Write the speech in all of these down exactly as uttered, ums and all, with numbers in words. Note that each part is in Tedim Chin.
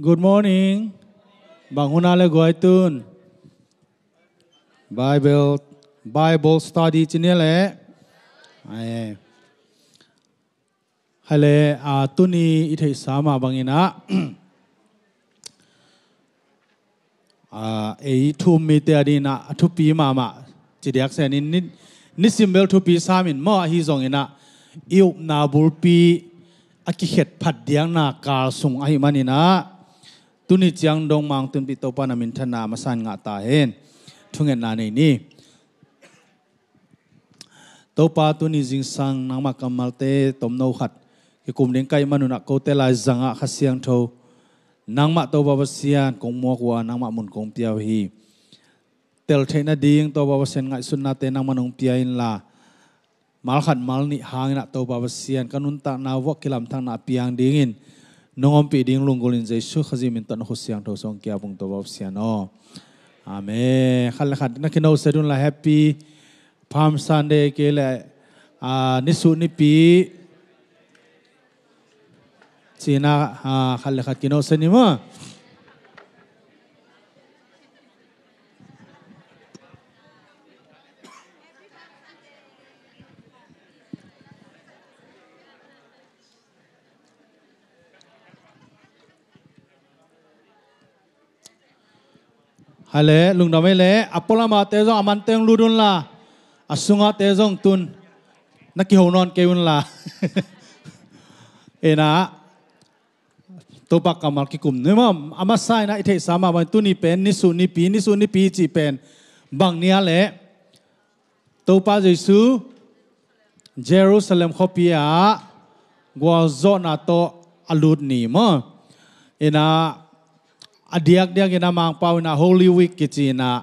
Good morning. Bang hun a le guai tun? Bible, Bible study ci ni le. Ai. Hai le, a, tuni i theihsa mah bangin ah, a, ei thu-um mite a dingin ah a thupi mahmah ci diak sen in ni, nisim bel thupi sam in maw, ahi zongin ah i upna bulpi a kikhet phat diakna kal sung ahih manin ah, tuni ciang dong Mang Tunpih Topa na minthanna masa in ngah ta hen. Thungetna nei ni. Topa, tuni zingsang nangmah kammalte tomno khat kikum ding ka hih manun ah kote laizang ah Kha Siangtho nangmah Topa Pasian kong muak uh a, nangmah mun kong pia uh hi. Tel theih nading Topa Pasian ngaihsutnate nangmah nong pia inla, mal khat mal nih hangin ah Topa Pasian ka nuntakna uh ah kilamthakna a piang dingin nong ompih ding lunggulh in Jesu Khazih min tawh na khut siangtho sung kiap ung Topa Pasian aw. Amen. Khat le khat na kinoset unla, Happy Palm Sunday kei le, a, nisuh nipi ci-in ah, a, khat le khat kinoset ni maw. Hai le, lungdam ei le, a pualamate zong a mante hong lut unla, a sungate zong tun na kiho nawn kei unla. Ina, Topa kammal kikum ni maw. A masa in ah i theihsa mah bang tuni pen nisuh nipi, nisuh nipi cih pen bang ni a le, Topa Jesu Jerusalem khuapi ah gualzawhna tawh a lut ni maw. Ina, a diakdiak in ah Mangpau in ah Holy Week kici in ah,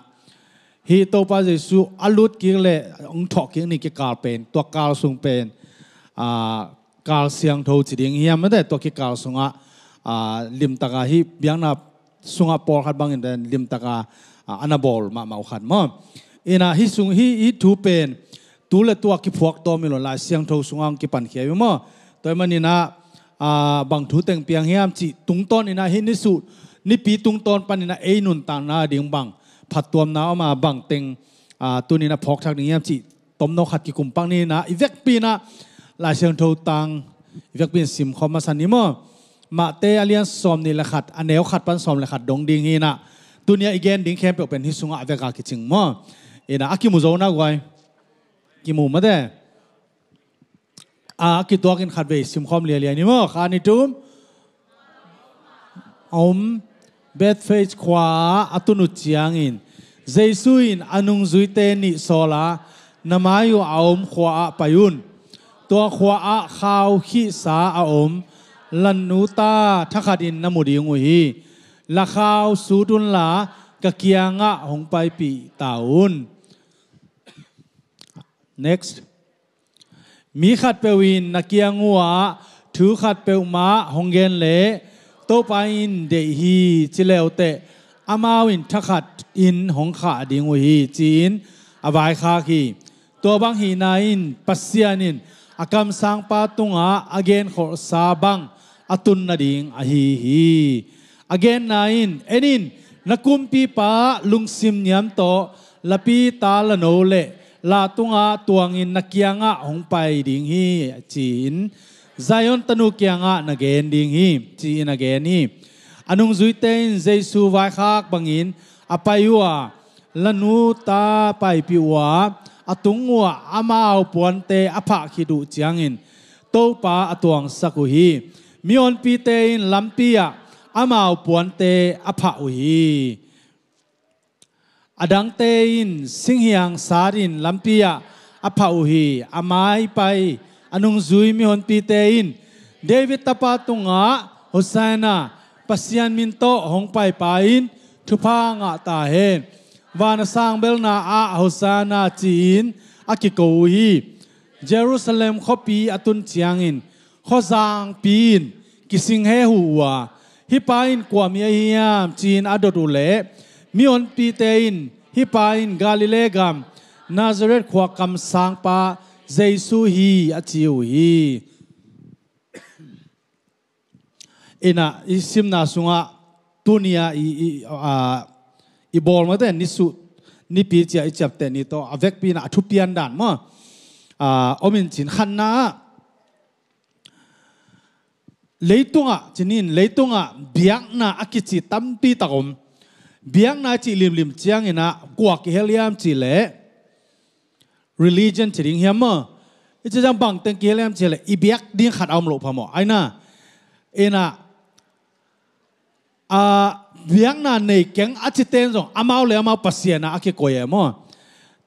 hih Topa Jesu a lut kik le hong thawh kik ni kikal pen, tua kal sung pen, a, kal siangtho ci ding hiam, mate, tua kikal sungah, a, limtaka hih biakna sungah pawlkhat bangin den limtaka, a, a na bawl mahmah uh khat maw. Ina, hih sung, hih, hih thu pen tu le tua kiphuak tawm hi lo, Lai Siangtho sungah hong kipankhia hi maw. Tua ahih manin ah, a, bang thu teng piang hiam cih tungtawn in ah hih nisuh nipi tungtawn panin ah ei nuntakna ding bang phattuamna om a, bang teng, a, tuni in ah phawkthak ding hiam cih tomno khat kikum pak ni. Ina, i vekpi in ah Lai Siangtho tang i vekpi in simkhawm masa ni maw. Mate a lian sawmnih le khat, a neu khat pan sawm le khat dong ding hi. Ina, tuni a i gen ding khempeuh pen hih sungah a vek a kicing maw. Ina, a kimu zo na guai. Kimu mate. A kituak in khatvei simkhawm lialia ni maw. Khat, nih, thum. A om Bethphage khua ah a tun uh ciangin Jesu in a nungzuite nih sawl a, na mai uh a om khua ah pai un. Tua khua ah khau khihsa a om lannu ta thakhat in na mu ding uh hi. La khau sut unla ka kiangah hong paipih ta un. Next. Mi khatpeuh in na kiang uhah thu khat peuhmah hong gen leh Topa in deih hi ci leuteh amau in thakhat in hong khah ding uh hi, ci-in a vaikhak hi. Tua bang hihna in Pasian in a kamsangpa tungah a genkholhsa bang a tun nading ahi hi. A genna in, en in, na kumpipa lungsim niam tawh lapi ta lano le la tungah tuangin na kiangah hong pai ding hi, ci-in Zion tanu kiangah na gen ding hi, ci-in a gen hi. A nungzuite in Jesu vaikhak bangin a pai uh a, lanu ta paipih uh a, a tung uhah amau puante a phah khit uh ciangin Topa a tuangsak uh hi. Mihonpite in lampi ah amau puante a phah uh hi. A dangte in singhiang sat in lampi ah a phah uh hi. A maipai a nungzui mihonpite in David tapa tungah Hosanna, Pasian min tawh hong paipa in thupha ngah ta hen. Van a sang belna ah Hosanna, ci-in a kiko uh hi. Jerusalem khuapi a tun ciangin khuazangpi in kising hehu uh a, hih pa in kua mi ahi hiam, ci-in a dot uh leh mihonpite in hih pa in Galilee gam Nazareth khua kamsangpa Jesu hi, a ci uh hi. Ina, i simna sungah tuni-a i, i, a, i bawl mate, nisuh nipi ci-a i ciapteh ni tawh a vekpi-in ah a thupian dan maw, a, om in cin. Khatna ah leitungah, cinin leitungah biakna a kici tampi tak om. Biakna a cih limlim ciangin ah kua kihel hiam cih leh religion ci ding hiam maw? I ci ciang bang teng kihel hiam cih leh i biak ding khat a om loh phamawh. Aina, ina, a, biakna nei keng a cite in zong amau le amau pasian ah a kikoi e maw?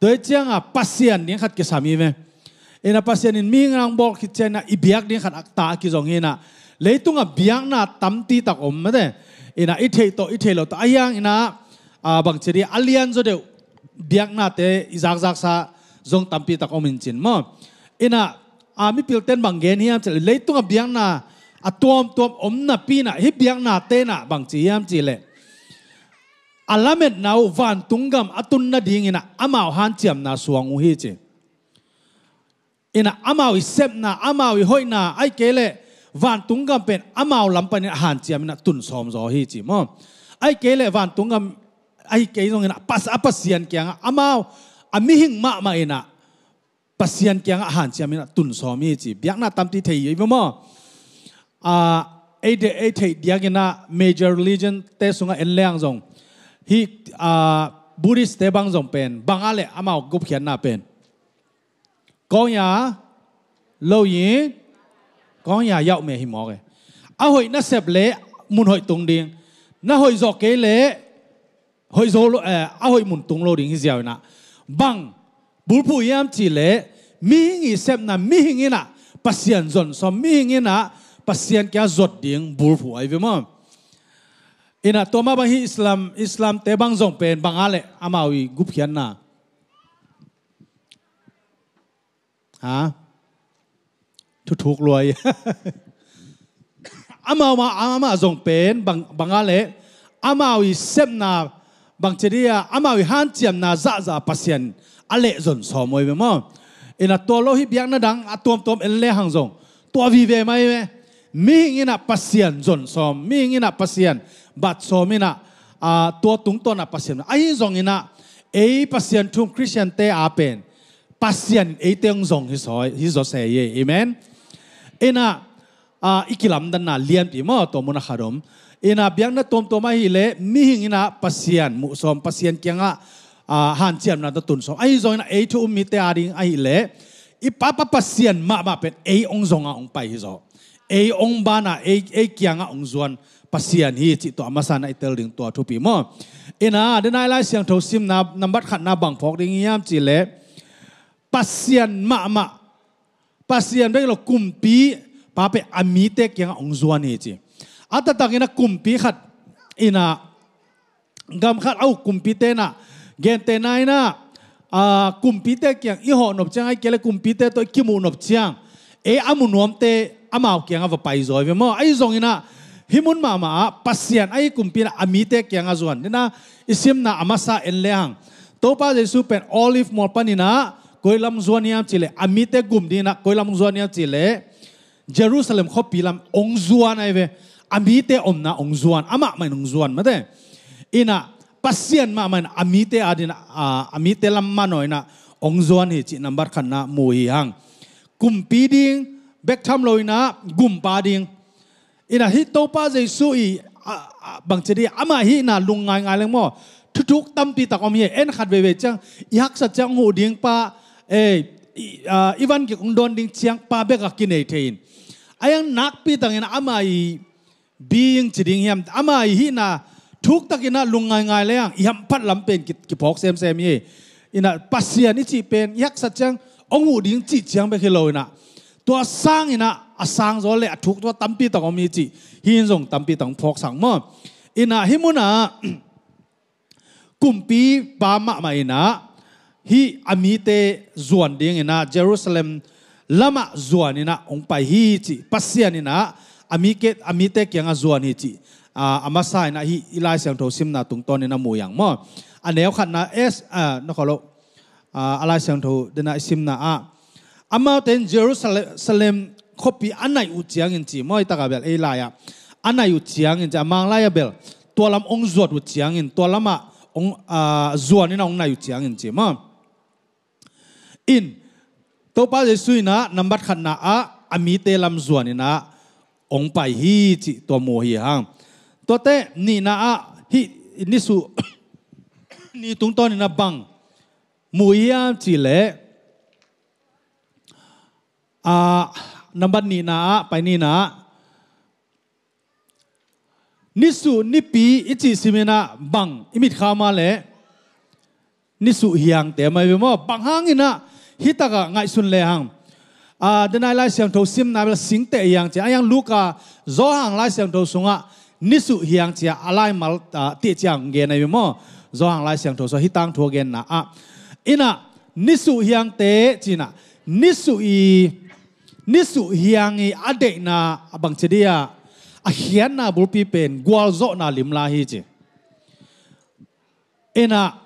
Tua hi ciangah pasian ding khat kisam hi ve. Ina, Pasian in mihing nang bawl khit ciangin ah i biak ding khat a ta a kizong hi. Ina, leitungah biakna tampi tak om mate. Ina, i theih tawh i theih loh tawh a hiang ina, a, bangci dih a lian zaw deuh biaknate i zakzaksa zong tampi tak om in cin maw? Ina, a, mipilten bang gen hiam cih leh leitungah biakna a tuamtuam om napi-in ah hih biaknate in ah bangci hiam cih leh a lametna uh vantung gam a tun nadingin ah amau hanciamna suang uh hi ci. Ina, amau i sepna, amau i hoihna, ahih kei leh vantung gam pen amau lam panin a hanciam in ah tun sawm zaw hi ci maw? Ahih kei leh vantung gam, ahih kei zongin ah pas-, a Pasian kiangah amau a mihing mahmah in ah Pasian kiangah hanciam in ah tun sawm hi ci. Biakna tampi thei hi ve maw? A, ei de, ei theih diakin ah major religion-te sungah en leng zong hih, a, Buddhist-te bang zong pen bang a leh amau gupkhiatna pen Kawng ya lo yi, kawng ya yauk me hi mawk e. A hoih na sep leh mun hoih tung ding, na hoih zawh kei leh hoih zo lo, eh, a hoih mun tung lo ding hi ziau inah. Bang bulphuh hiam cih leh mihing i sepna, mihing inah Pasian zon sawm, mihing inah Pasian kia zot ding bulphuh ahi ve maw? Inah tua mah bang hi Islam, Islam te bang zong pen bang a leh amau i gupkhiatna. Ha? Thuthuk luai. Amau mah, amah zong pen bang, bang a leh amau i sepna bang ci dia, amau i hanciamna zahzah Pasian a leh zon sawm ahi ve maw? Inah tua lo hi biakna dang a tuamtuam en lehang zong tua vive mai ve. Mihing inah Pasian zon sawm, mihing inah Pasian bat sawm inah, ah, tua tungtawn ah Pasian. Ahi zong inah ei Pasian thu-um Khristian te a pen Pasian in eite hong zong hi zaw, hi zaw se hi. Amen. Inah, ah, i kilamdanna lianpi maw, tua mun a khat om. Inah biakna tuamtuam ahih leh mihing inah Pasian muh sawm, Pasian kiangah, ah, hanciamna tun sawm. Ahi zong inah ei thu-um mite a ding ahih leh i Papa Pasian mahmah pen ei hong zong a hong pai hi zaw. Ei hong ban a, ei, ei kiangah hong zuan Pasian hi cih tua a masa inah i tel ding tua thupi maw? Inah, denah i Lai Siangtho simna nambat khatna bang phawk ding hiam cih leh Pasian mahmah, Pasian bek lo kumpipa pen a mite kiangah hong zuan hi ci. A taktak inah kumpi khat inah gam khat a uk kumpite inah, gentehna inah, ah, kumpite kiang i hawh nop ciang, ahih kei leh kumpite tawh i kimuh nop ciang ei a mu nuamte amau kiangah va pai zaw hi ve maw? Ahi zong inah hih mun mahmah ah Pasian ahi kumpi inah a mite kiangah zuan. Denah i simna a masa en lehang Topa Jesu pen Olive mual pan inah koi lam zuan hiam cih leh, a mite gum ding inah koi lam zuan hiam cih leh Jerusalem khuapi lam hong zuan ahi ve. A mite omna hong zuan, amah mah in hong zuan mate. Inah Pasian mahmah in a mite a ding, a, a mite lam manaw inah hong zuan hi cih nambat khatna mu hi hang. Kumpi ding bek tham lo inah gumpa ding. Inah hih Topa Jesu i, a, a, bang ci dia, amah hihna lungngaingai leng maw? Thuthuk tampi tak om hi. En khat veivei ciang i haksat ciang hong huh ding pa, eh, i, ah, i van gik hong dawn ding ciang pa bek a kinei thei in. A hiang nakpi tak inah amah i being ci ding hiam, amah i hihna thuk tak inah lungngaingai lehang i hamphat lam pen ki, kiphawk semsem hi. Inah Pasian i cih pen i haksat ciang hong huh ding cih ciang bek hi lo inah tua sang inah a sang zaw leh a thuk tua tampi tak om hi cih hih in zong tampi tak hong phawksak maw? Inah hih munah kumpipa mahmah inah hih a mite zuan ding inah Jerusalem lamah zuan inah hong pai hi cih, Pasian inah a mite, a mite kiangah zuan hi cih, ah, a masa inah hih i Lai Siangtho simna tungtawn inah mu hi hang maw? A neu khatna es, ah, na kholo, ah, a Lai Siangtho denah i simna ah amaute in Jerusalem khuapi a naih uh ciangin ci maw, i takah bel ei lai-ah a naih uh ciangin ci, a Mang lai-ah bel tua lam hong zuat uh ciangin, tua lamah hong, ah, zuan in ah hong nai uh ciangin ci maw. In, Topa Jesu in ah nambat khatna ah a mite lam zuan in ah hong pai hi cih tua mu hi hang. Tuate nihna ah hih nisuh ni tungtawn in ah bang mu hiam cih leh, ah, nambat nihna ah, pai nihna ah, nisuh nipi i cih sim in ah bang i mit kha mah leh nisuh hiangte mah hi ve maw. Bang hangin ah hih takah ngaihsun le hang. Ah, denai Lai Siangtho simna bel singteh hiang cia, a hiang Luka, Johan Lai Siangtho sungah nisuh hiang cia a laimal, ah, tih ciang gen ahi ve maw. Johan Lai Siangtho sungah hih tangthu a genna ah. In ah nisuh hiangte ci in ah, nisuh i, nisuh hiang i a deihna a bangci dia, a khiatna bulpi pen gualzawhna limla hi ci. In ah,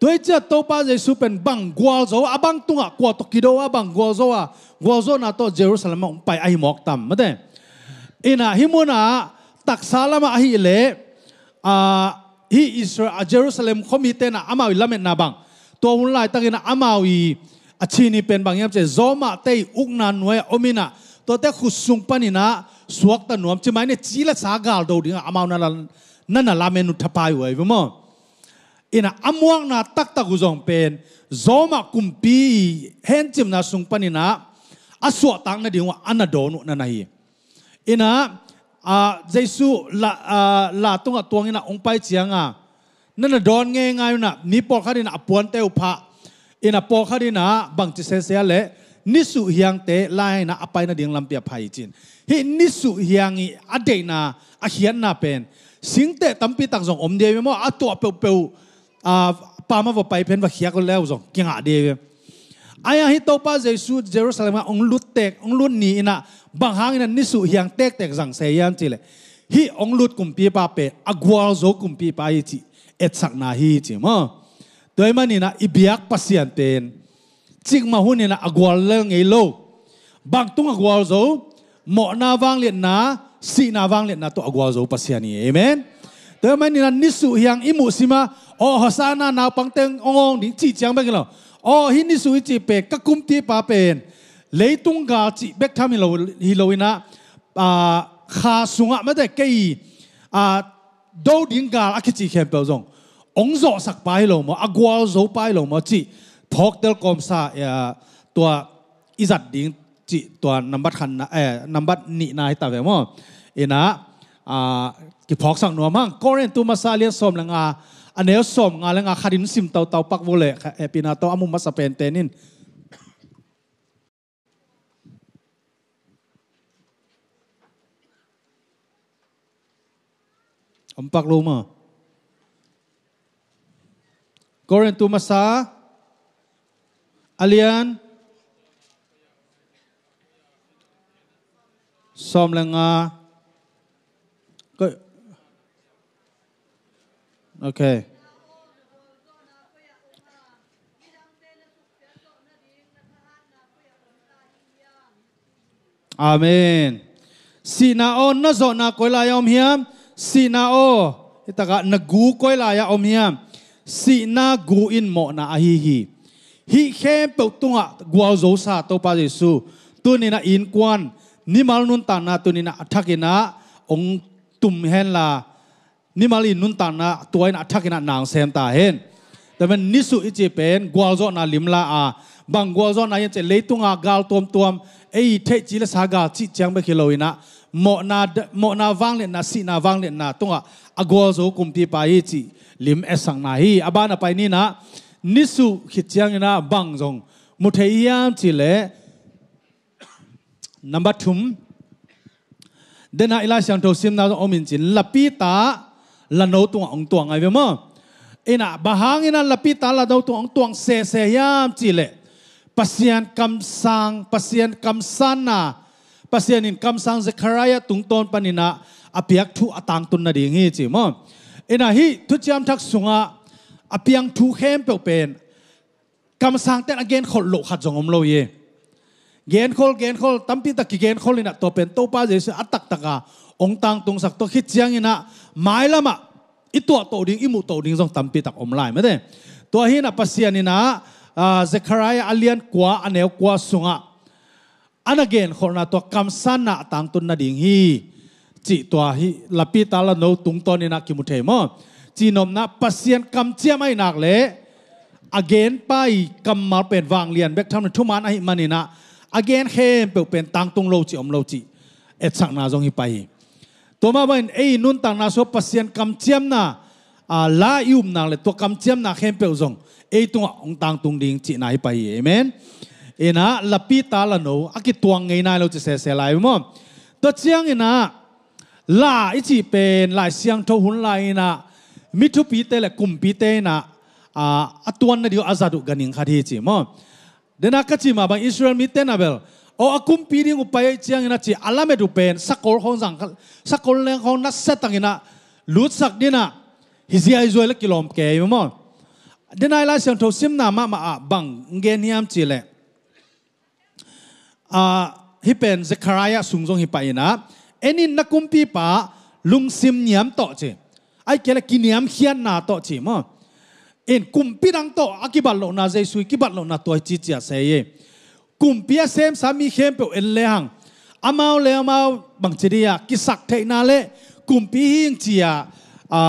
tua hi ciah Topa Jesu pen bang gualzo, a bang tungah kua tawh kido a bang gualzo a, gualzawhna tawh Jerusalem ah hong pai ahi mawk tam, mate. In ah, hih munah taksa lamah ahih leh, ah, hih Israel, ah, Jerusalem khuamite in ah amau i lametna bang, tua hun laitakin ah amau i a cihni pen bang hiam cih leh, Roma te i ukna nuai-ah om in ah, tuate khut sung panin ah suakta nuam, ci mai ni, ci le sa gal do dingah amau na la, na na lamen uh thapai uh ahi ve maw. In ah, a muakna taktak uh zong pen Roma kumpi i hencimna sung panin ah a suahtak nading uh a na dawn uh na na hi. In ah, ah, Jesu la, ah, la tungah tuang in ah hong pai ciang a, na na dawn ngeingai un ah, mi pawlkhat in ah a puante uh phah in ah, pawlkhat in ah bangci sese a leh nisuh hiangte lai in ah a pai nading lampi a phai hi ci in. Hih nisuh hiang i a deihna, a khiatna pen singteh tampi tak zong om ding hi ve maw, a tuah peuhpeuh, ah, pam a va pai pen va khiak le uh zong kingah ding hi ve. Ahi hang hih Topa Jesu Jerusalem ah hong lut tek, hong lut ni in ah bang hangin ah nisuh hiang tektek zang se hiam cih leh, hih hong lut kumpipa pen a gualzo kumpipa hi cih etsakna hi ci maw. Tua ahih manin ah i biak Pasian pen cikmah hun in ah a gual lel ngei lo. Bang tungah gualzo? Mawhna vangliatna, sihna vangliatna tawh a gualzo Pasian hi. Amen. Tua ahih manin ah nisuh hiang i muh sim a, aw, Hosanna, naupangte hong awng ding cih ciang bek hi lo. Aw, hih nisuh i cih pen ka kumpipa pen leitung gal cih bek tham hi lo, hi lo in ah, ah, kha sungah mate kei, ah, do ding gal a kici khempeuh zong hong zawhsakpa hi lo maw, a gualzopa hi lo maw cih phawktel kawmsa, eh, tua i zat ding cih tua nambat khatna, eh, nambat nihna hi ta ve maw. In ah, ah, kiphawksak nuam hang. Korintu masa a lian sawm le nga, a neu sawm nga le nga, khat in sim tautau pak vua leh, eh, hehpihna tawh a mu masa pente in. Om pak lo maw. Korintu masa a lian sawm le nga. Ko-, okay. Amen. Sihna aw, na zawhna koi lai-ah om hiam? Sihna aw, hih takah na gu koi lai-ah om hiam? Sihna gu in mawhna ahi hi. Hih khempeuh tungah gualzosa Topa Jesu tuni-in ah innkuan, mimal nuntakna tuni-in ah a thakin ah hong tum henla, mimal i nuntakna tua in a thakin ah na sem ta hen. Tua manin nisuh i cih pen gualzawhna limla a, bang gualzawhna hiam cih leh leitunga gal tuamtuam, ei theih ci le sa gal cih ciang bek hi lo in ah, mawhna, mawhna vangliatna, sihna vangliatna tungah a gualzo kumpipa hi cih lim etsakna hi. A ban a pai ni in ah, nisuh khit ciangin ah bang zong mu thei hiam cih leh, number thum, den ah i Lai Siangtho simna zong om in cin, lapita lano tungah hong tuang ahi ve maw? In ah, bang hangin ah lapita lano tungah hong tuang sese hiam cih leh, Pasian kamsang, Pasian kamsanna, Pasian in kamsang Zekhariah tungtawn panin ah a piak thu a tangtun nading hi ci maw? In ah, hih Thuciam Thak sungah a piang thu khempeuh pen kamsangte'n a genkhol loh khat zong om lo hi. Genkhol, genkhol, tampi tak kigenkhol in ah, tua pen Topa Jesu a taktak a hong tangtungsak, tua khit ciangin ah mailam ah i tuahtoh ding, i muhtoh ding zong tampitak om lai mate. Tua hinah Pasian inah, ah, Zekhariah a lian kua, a neu kua sungah a na genkholhna tua kamsanna a tangtun nading hi, cih tua hi Lapita Lano tungtawn inah kimu thei maw? Cihnopna Pasian kamciam ahih nak leh a genpa i kammal pen vanglian bek tham le thuman ahih maninah a gen khempeuh pen tangtung lo cih om lo cih etsakna zong hi pai hi. Tua mah bangin ei nuntakna sua Pasian kamciamna, a, la i upnak le tua kamciamna khempeuh zong ei tungah hong tangtung ding cihna hi pai hi. Amen. Inah Lapita Lano a kituang ngei nai lo ci sese lai maw? Tua cianginah la i cih pen Lai Siangtho hun lai inah mi thupite le kumpite inah, a, a tuan nading uh a zat uh ganhing khat hi ci maw? Dena ka cih mah bang Israel mite na bel, aw, a kumpi ding uh pai ahih ciangin a ci a lamet uh pen sakol khawng zang, sakol leng khawng nasia takin a lutsak dinah hi ziaizuai le kilawm kei maw? Dena i Lai Siangtho simna mahmah ah bang gen hiam cih leh, a, hih pen Zekhariah sung zong hi pai inah, en in na kumpipa lungsim niam tawh ci, ahih kei le kiniamkhiatna tawh ci maw? In kumpi dang tawh a kibat lohna, Jesu i kibat lohna tua hi ci cia sei hi. Kumpi a semsa mi khempeuh en lehang amau le amau bangci dih a kisak theihna le kumpi hi ing ci a, a,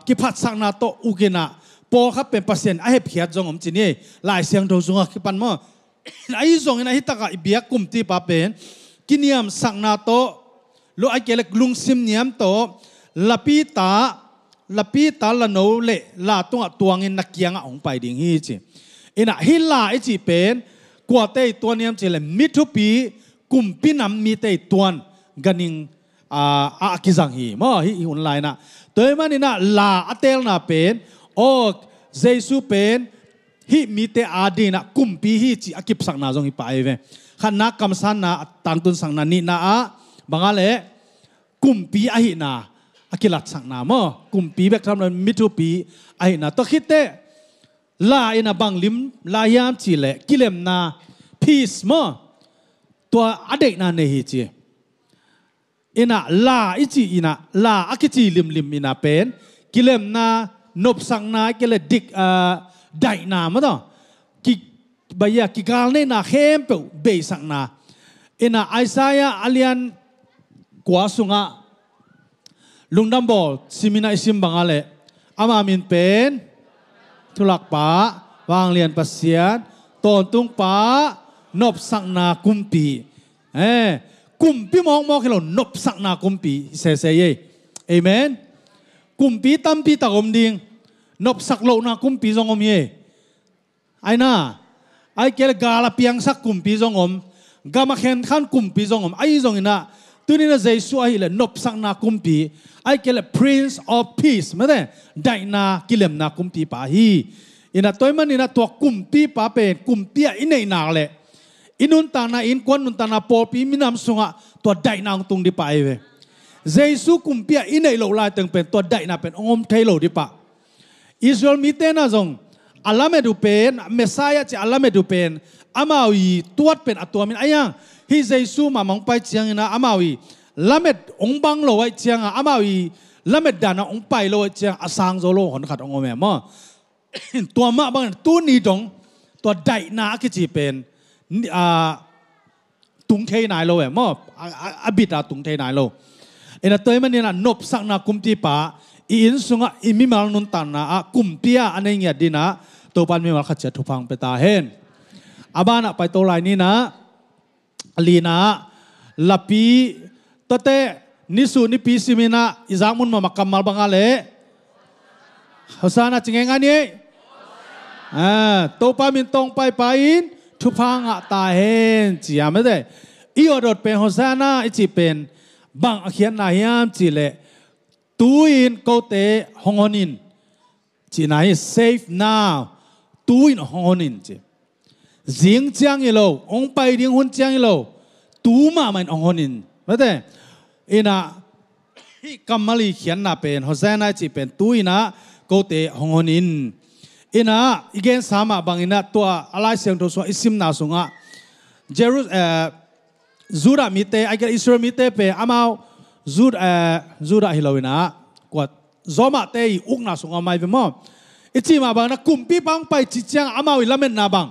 kiphatsakna tawh uk inah pawlkhat pen Pasian a hepkhiat zong om ci ni. Lai Siangtho sungah kipan maw? Ahi zongin ahi takah i biak kumpipa pen kiniamsakna tawh, lo ahih kei le lungsim niam tawh, Lapita, Lapita Lano le la tungah tuangin na kiangah hong pai ding hi ci. Inah hih la i cih pen kuate i tuan hiam cih le mi thupi, kumpi nam mite i tuan ganhing, a, a kizang hi maw? Hih i hun lai inah. Tua ahih maninah la a teelna pen, aw, Jesu pen hih mite adingin ah kumpi hi cih a kipsakna zong hi pai ve. Khatna kamsanna a tangtunsakna, nihna ah bang a leh kumpi ahihna a kilatsakna maw? Kumpi bek tham lo in mi thupi ahihna. Tua khit teh la in a bang lim lai hiam cih leh kilemna, peace maw? Tua a deihna nei hi ci. Inah la i cih inah, la a kici limlim inah pen kilemna, nopsakna, kei le dik, ah, daihna maw taw, ki, baya, kigalneihna khempeuh beisakna. Inah Isaiah a lian kua sungah lungdam bawl sim inah i sim bang a leh ama min pen Thulakpa, Vanglian Pasian, Tawntungpa, Nopsakna Kumpi. Eh, kumpi mawkmawk hi lo, nopsakna kumpi hi sese ei. Amen. Kumpi tampi tak om ding. Nopsak lohna kumpi zong om hi ei. Ai na, ai kei le gal a piangsak kumpi zong om. Gam a khenkhan kumpi zong om. Ahi zongin ah, tuni in ah Jesu ahih leh nopsakna kumpi, ai kei le Prince of Peace, mate, daihna kilemna kumpipa hi. Inah tua ahih manin ah tua kumpipa pen kumpi ah i neih nak leh i nuntakna, i innkuan nuntakna, pawlpi minam sungah tua daihna hong tung dih pah hi ve. Jesu kumpi ah i neih loh laiteng pen tua daihna pen hong om thei lo dih pah. Israel mite na zong a lamet uh pen, Messiah ci a lamet uh pen amau i tuat pen a tuam in, ai hang hih Jesu mahmah hong pai ciangin ah amau i lamet hong bang lo ahih ciangah, amau i lamet dan ah hong pai lo ahih ciangah a sang zo lo hon khat hong om e maw? Tua mah bangin tuni dong tua daihna a kici pen ni, a, tung thei nai lo e maw? A, a, a bit a tung thei nai lo. Inah tua ahih manin ah nopsakna kumpipa i inn sungah i mimal nuntakna ah kumpi ah a nei ngiat dih in ah Topa'n mimal khat ciat thupha hong pia ta hen. A banah paito lai ni in ah, a lina ah lapi, tua teh nisu nipi sim in ah i zak mun mahmah kammal bang a leh Hosanna ci ngeingai ni. Ah, Topa min tawh hong paipa in thupha ngah ta hen ci a, mate. I awdawt pen Hosanna i cih pen bang a khiatna hiam cih leh, tu-in kote hong hon in cihna hi. Save now. Tu-in hong hon in ci. Zing ciang hi lo, hong pai ding hun ciang hi lo, tu mahmah in hong hon in, mate. Inah hih kammal i khiatna pen, Hosanna i cih pen tu-in ah kote hong hon in. Inah i gensa mah bangin ah tua a Lai Siangtho sungah i simna sungah Jeru-, eh, Judah mite, ai kei le Israel mite pen amau Jud-, eh, Judah hi lo in ah, kuat Zawmahte i ukna sungah om ahi ve maw. I cih mah bangin ah kumpipa hong pai cih ciangah amau i lametna bang,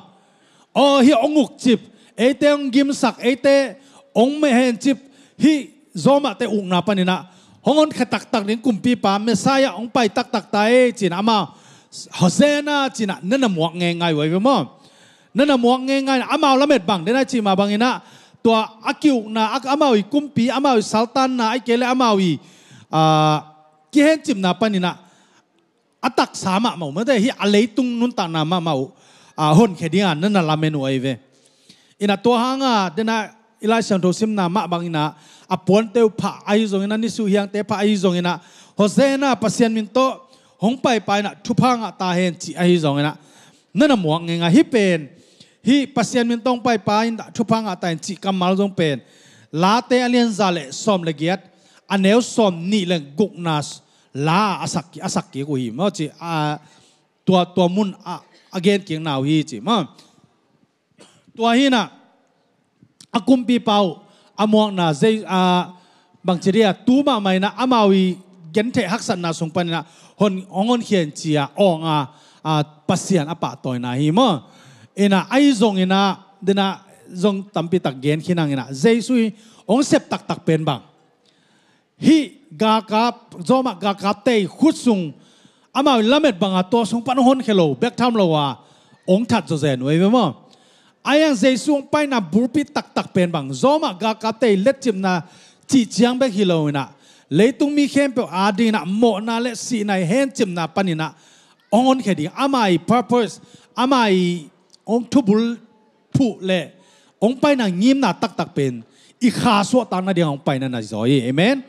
aw, hih hong ukcip, eite hong gimsak, eite hong mehencip, hih Zawmahte ukna panin ah hong honkhia taktak ding kumpipa Messiah hong pai taktak ta ei ci-in ah amau Hosanna ci-in ah na na muak ngeingai uh ahi ve maw. Na na muak ngeingai in ah amau lamet bang, den a i cih mah bangin ah tua a kiukna, a, amau i kumpi, amau i saltanna, ahih kei leh amau i, ah, kihencipna panin ah a taksa mahmah uh, mate, hih a leitung nuntakna mahmah uh, ah, honkhia dingin na na lamen uh ahi ve. In ah tua hangah den a i Lai Siangtho simna mah bangin ah a puante uh phah ahi zongin ah, nisuh hiangte phah ahi zongin ah, Hosanna, Pasian min tawh hong paipa in ah thupha ngah ta hen cih ahi zongin ah na na muak ngeingai. Hih pen, hih Pasian min tawh hong paipa in ah thupha ngah ta hen cih kammal zong pen Late a lian za le sawm le giat, a neu sawm nih le gukna la a sak, a sak kik uh hi maw ci, a, tua, tua mun a, a gen kikna uh hi ci maw. Tua hi in ah a kumpipa uh a muakna zei, a, bangci dia, tu mahmah in ah amau i gentheih haksatna sung panin ah hong, hong honkhia in ci-a awng a, a, Pasian a pahtawina hi maw. In ah ahi zongin ah, den a zong tampi tak gen khin hang in ah, Jesu i hong sep taktak pen bang, hih galkap, Zawmah galkapte i khut sung amau i lamet banga tua sung pan hong honkhia lo bek tham lo a, hong that zawzen uh ahi ve maw. Ahi hang Jesu hong paina bulpi taktak pen bang, Zawmah galkapte i letcipna cih ciang bek hi lo in ah, leitung mi khempeuh adingin ah mawhna le sihna i hencipna panin ah hong honkhia ding, ama i purpose, ama i hong thubul phuh le hong paina ngimna taktak pen i kha suahtak nading hong paina na zaw hi. Amen.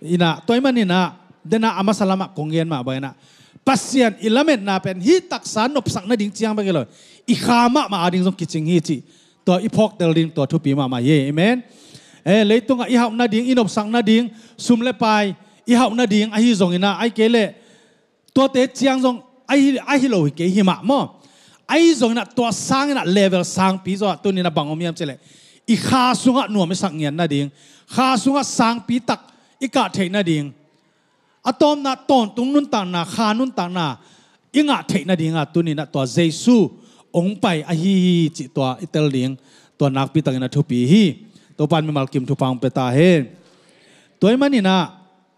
In ah tua ahih manin ah, den a a masa lamah kong gen mah bangin ah, Pasian i lametna pen hih taksa nopsak nading ciang bek hi lo, i kha mahmah ading zong kicing hi cih tua i phawktel ding tua thupi mahmah hi. Amen. Eh, leitungah i hauh nading, i nopsak nading, sum le pai i hauh nading ahi zongin ah, ahih kei leh tuate ciang zong ahi, ahi lo hi kei hi mah maw. Ahi zongin ah tua sangin ah level sangpi zaw ah tuni-in ah bang om hiam cih leh, i kha sungah nuam i sak ngian nading, kha sungah sangpi tak i kah theih nading, a tawpna tawntung nuntakna, kha nuntakna i ngah theih nading ah tuni-in ah tua Jesu hong pai ahi hi cih tua i tel ding, tua nakpi takin a thupi hi. Topa in mimal kim thupha hong pia ta hen. Tua ahih manin ah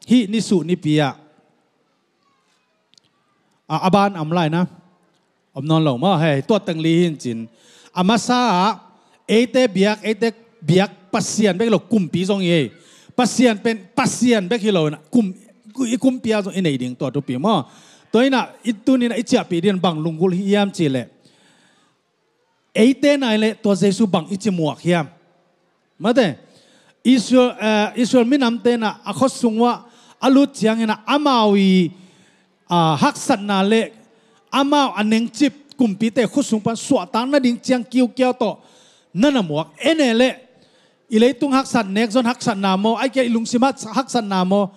hih nisuh nipi ah, a, a ban a om lai na, om nawn lo maw, hei, tua teng li hi in cin. A masa ah eite biak, eite biak Pasian bek hi lo, kumpi zong hi. Pasian pen Pasian bek hi lo in ah, kum, i kumpi ah zong i neih ding tua thupi maw. Tua in ah i tuni-in ah i ciahpih ding bang lunggulh hiam cih leh, eite nai leh tua Jesu bang i ci muak hiam? Mate, Israel, eh, Israel minamte in ah a khua sung uah a lut ciangin ah amau i, ah, haksatna le amau a nengcip kumpite khua sung pan suahtak nading ciang kiukiau tawh na na muak. En e leh i leitung haksat, nekzon haksatna maw, ahih kei leh i lungsim hak-, haksatna maw,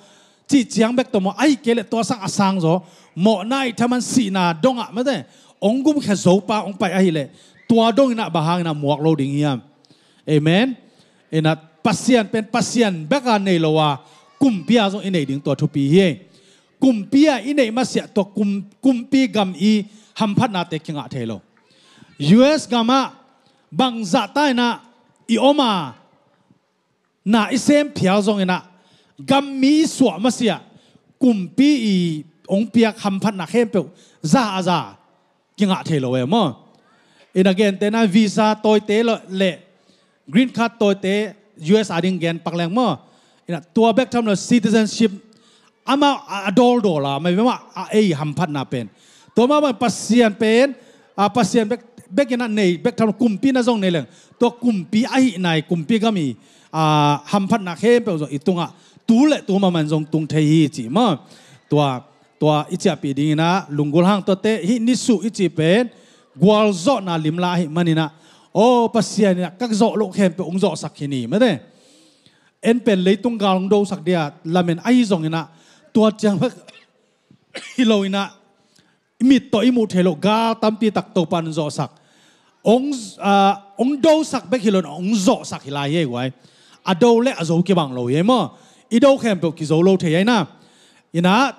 cih ciang bek tawh maw, ahih kei leh tua sang a sang zaw, mawhna, ithaman, sihna dongah, mate, hong gumkhia zo pa hong pai ahih leh, tua dongin ah bang hangin ah muak lo ding hiam? Amen. In ah Pasian pen Pasian bek a nei lo a, kumpi ah zong i neih ding tua thupi hi. Kumpi ah i neih masiah tua kum, kumpi gam i hamphatnate kingah thei lo. U S gam ah bangzah ta in ah i om a, na i sem phial zongin ah, gam mi i suah masiah kumpi i hong piak hamphatna khempeuh za a za kingah thei lo e maw. In ah gentehna visa tawite lo le green card tawite U S ading gen pak leng maw. In ah tua bek tham lo, citizenship amau a, a dawldawl a, mah bek mah a ei hamphatna pen. Tua mah bang Pasian pen, a, Pasian bek, bek in ah nei bek tham lo, kumpi na zong nei leng, tua kumpi ahih nai kumpi gam i, a, hamphatna khempeuh zong i tungah tu le tu mahmah in zong tung thei hi ci maw. Tua, tua i ciahpih dingin ah lunggulh hang. Tuate hih nisuh i cih pen gualzawhna limla ahih manin ah, aw, Pasian in ah ka zawh loh khempeuh hong zawhsak hi ni, mate. En pen leitung gal hong dosak dia lamen ahi zongin ah, tua ciang bek hi lo in ah, i mit tawh i muh theih loh gal tampi tak Topa in hong zawhsak. Hong, ah, hong dosak bek hi lo in ah, hong zawhsak hi lai hi ei guai. A do le a zo kibang lo hi ei maw. I do khempeuh kizo lo thei hi ei na. In ah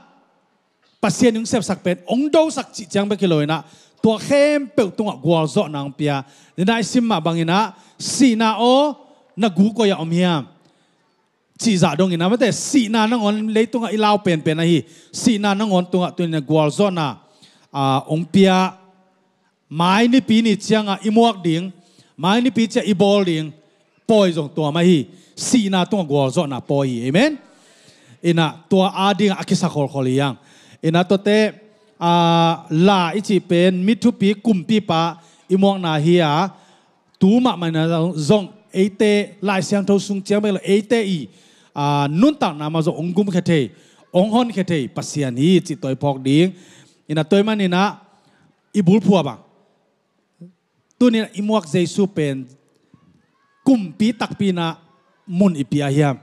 Pasian in hong sepsak pen hong dosak cih ciang bek hi lo in ah, tua khempeuh tungah gualzawhna hong pia. Ni-in ah i sim mah bangin ah, sihna aw, na gu koi-ah om hiam? Cih zah dongin ah, mate, sihna nangawn leitungah i lau penpen ahi. Sihna nangawn tungah tuni-in ah gualzawhna, ah, hong pia. Mai nipi ni ciangah i muak ding, mai nipi ciah i bawl ding pawi zong tua mah hi. Sihna tungah gualzawhna pawi hi. Amen. In ah tua adingah a kisa kholkhol hi hang. In ah tuate, ah, la i cih pen mi thupi kumpipa i muakna hi a, tu mahmah in ah zong eite Lai Siangtho sung ciang bek lo, eite i, ah, nuntakna mah zong hong gumkhia thei, hong honkhia thei Pasian hi cih tua i phawk ding. In ah tua ahih manin ah i bulphuh ah bang, tuni-in ah i muak Jesu pen kumpi takpi in ah mun i pia hiam?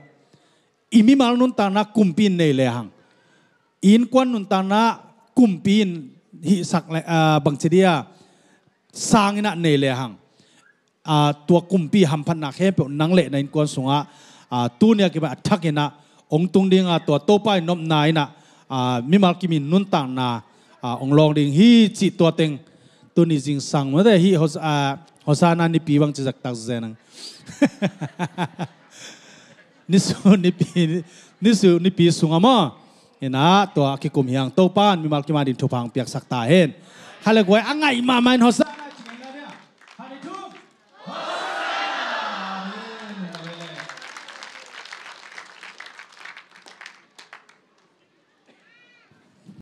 I mimal nuntakna kumpi in nei lehang, i innkuan nuntakna kumpi in hihsak le, ah, bangci dia sang in ah nei lehang, ah, tua kumpi hamphatna khempeuh nang le na innkuan sungah, ah, tuni a kipan a thak in ah hong tung ding a, tua Topa in nopna in ah, ah, mimal kim in nuntakna, ah, hong lawng ding hi cih tua teng tuni zingsang, mate, hih Hos-, ah, Hosana nipi bangci zahtak zen ang. Nisu nipi, nisu nipi sungah maw, in ah tua a kikum hi hang. Topa in mimal kim a ding thupha hong piaksak ta hen. Hale guai, a ngaih mahmah in Hosana